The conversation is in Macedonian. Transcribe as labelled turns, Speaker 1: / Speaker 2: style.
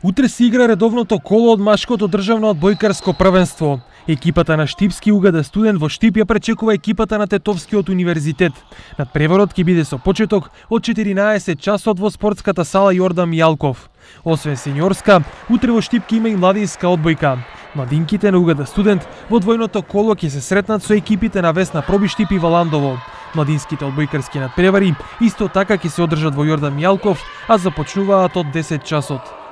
Speaker 1: Утре се игра редовното коло од машкото државно одбојкарско првенство. Екипата на Штипски УГД студент во Штип ја пречекува екипата на Тетовскиот универзитет. Надпреварот ќе биде со почеток од 14 часот во спортската сала Јордан Мијалков. Освен сениорска, утре во Штип ќе има и младинска одбојка. Младинките на УГД студент во двојното коло ќе се сретнат со екипите на Весна Проби Штип и Валандово. Младинските одбојкарски надпревари исто така ќе се одржат во Јордан Мијалков, а започнуваат од 10 часот.